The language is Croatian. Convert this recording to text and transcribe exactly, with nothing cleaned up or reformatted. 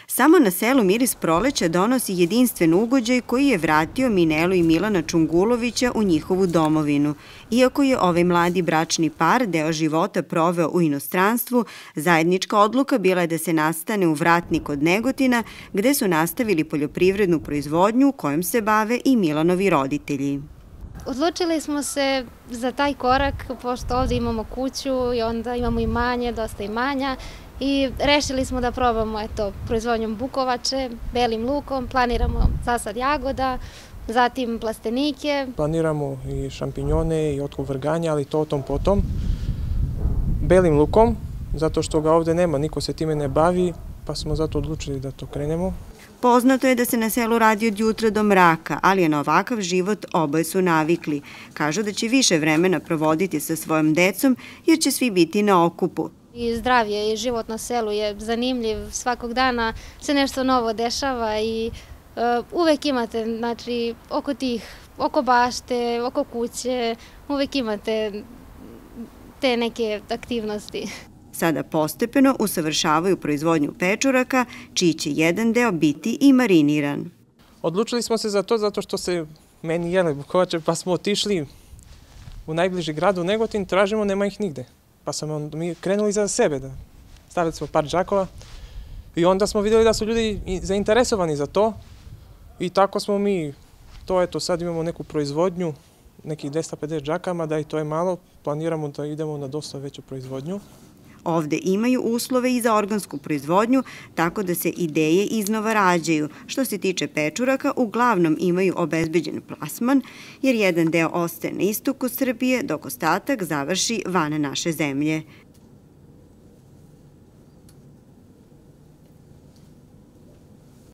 Samo na selu miris proleća donosi jedinstven ugođaj koji je vratio Minelu i Milana Čungulovića u njihovu domovinu. Iako je ovaj mladi bračni par deo života proveo u inostranstvu, zajednička odluka bila je da se nastane u Vratni kod Negotina, gde su nastavili poljoprivrednu proizvodnju kojom se bave i Milanovi roditelji. Odlučili smo se za taj korak, pošto ovdje imamo kuću i onda imamo imanje, dosta imanja, i rešili smo da probamo eto, proizvodnjom bukovače, belim lukom, planiramo zasad jagoda, zatim plastenike. Planiramo i šampinjone i otkup vrganja, ali to o tom potom. Belim lukom, zato što ga ovdje nema, niko se time ne bavi, pa smo zato odlučili da to krenemo. Poznato je da se na selu radi od jutra do mraka, ali je na ovakav život oboje su navikli. Kažu da će više vremena provoditi sa svojom decom jer će svi biti na okupu. I zdravlje i život na selu je zanimljiv, svakog dana se nešto novo dešava i uh, uvek imate, znači, oko tih, oko bašte, oko kuće, uvek imate te neke aktivnosti. Sada postepeno usavršavaju proizvodnju pečuraka, čiji će jedan deo biti i mariniran. Odlučili smo se za to zato što se meni jele bukovače, pa smo otišli u najbliži grad u Negotin, tražimo, nema ih nigde. Pa smo mi krenuli za sebe, da stavili smo par džakova i onda smo vidjeli da su ljudi zainteresovani za to i tako smo mi, to eto sad imamo neku proizvodnju, nekih dvesta pedeset džakama, da i to je malo, planiramo da idemo na dosta veću proizvodnju. Ovde imaju uslove i za organsku proizvodnju, tako da se ideje iznova rađaju. Što se tiče pečuraka, uglavnom imaju obezbeđen plasman, jer jedan deo ostaje na istoku Srbije, dok ostatak završi van naše zemlje.